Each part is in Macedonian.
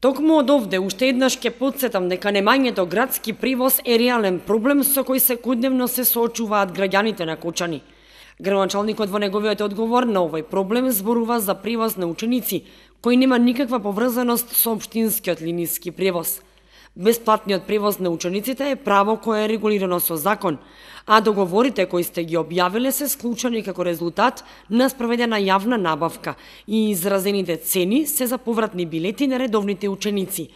Токму од овде уште еднаш ќе потсетам дека немањето градски привоз е реален проблем со кој секојдневно се соочуваат граѓаните на Кочани. Градоначалникот во неговиот одговор на овој проблем зборува за привоз на ученици, кој нема никаква поврзаност со општинскиот линиски превоз. Бесплатниот превоз на учениците е право кое е регулирано со закон, а договорите кои сте ги објавиле се склучени како резултат на спроведена јавна набавка и изразените цени се за повратни билети на редовните ученици.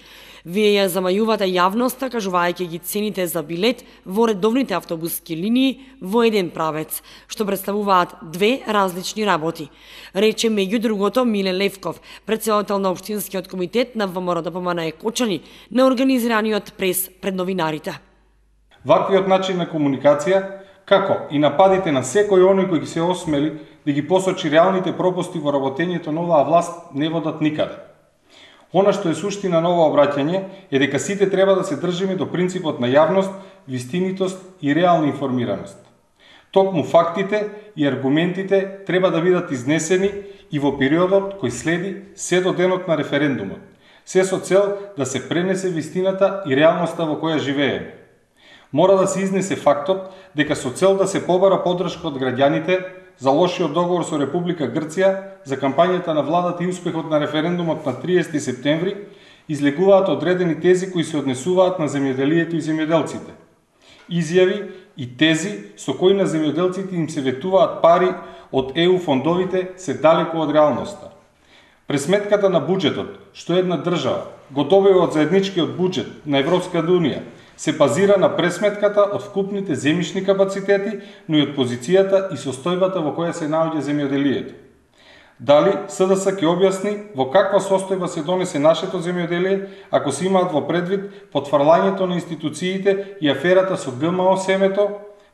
Вие ја замајувате јавноста кажувајќи ги цените за билет во редовните автобуски линии во еден правец, што представуваат две различни работи. Рече меѓу другото Миле Левков, претседател на општинскиот комитет на ВМРО-ДПМНЕ Кочани, на организираниот прес пред новинарите. Ваквиот начин на комуникација, како и нападите на секој оној кој ги се осмели да ги посочи реалните пропусти во работењето на оваа власт, не водат никаде. Она што е суштина на ова обраќање е дека сите треба да се држиме до принципот на јавност, вистинитост и реална информираност. Токму фактите и аргументите треба да бидат изнесени и во периодот кој следи се до денот на референдумот, се со цел да се пренесе вистината и реалноста во која живееме. Мора да се изнесе фактот дека со цел да се побара поддршка од граѓаните за лошиот договор со Република Грција за кампањата на владата и успехот на референдумот на 30 септември, излегуваат одредени тези кои се однесуваат на земјоделието и земјоделците. Изјави и тези со кои на земјоделците им се ветуваат пари од ЕУ фондовите се далеку од реалноста. Пресметката на буџетот, што една држава го добива од заедничкиот буџет на Европската унија, се базира на пресметката од вкупните земјишни капацитети, но и од позицијата и состојбата во која се наоѓа земјоделието. Дали СДС ќе објасни во каква состојба се донесе нашето земјоделие, ако се имаат во предвид потврлањето на институциите и аферата со ГМО семето,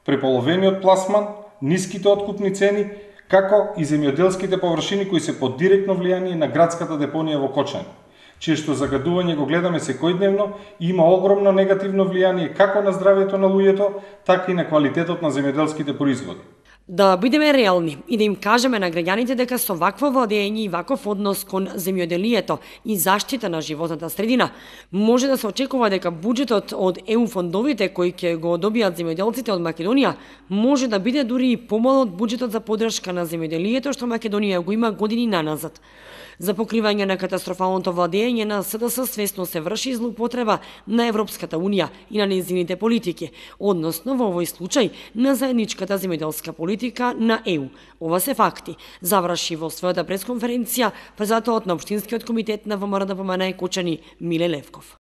преполовениот пласман, ниските откупни цени, како и земјоделските површини кои се под директно влијание на градската депонија во Кочани, чие што загадување го гледаме секојдневно и има огромно негативно влијание како на здравјето на луѓето, така и на квалитетот на земјоделските производи. Да бидеме реални и да им кажеме на граѓаните дека со вакво владење и ваков однос кон земјоделието и заштита на животната средина може да се очекува дека буџетот од ЕУ фондовите кои ќе го добијат земјоделците од Македонија може да биде дури и помал од буџетот за поддршка на земјоделието што Македонија го има години наназад. За покривање на катастрофалното владење на СДС свесно се врши злоупотреба на Европската унија и на нејзините политики, односно во овој случај на заедничката земјоделска политика на ЕУ. Ова се факти, заврши во својата пресконференција претседателот на општинскиот комитет на ВМРО-ДПМНЕ Кочани Миле Левков.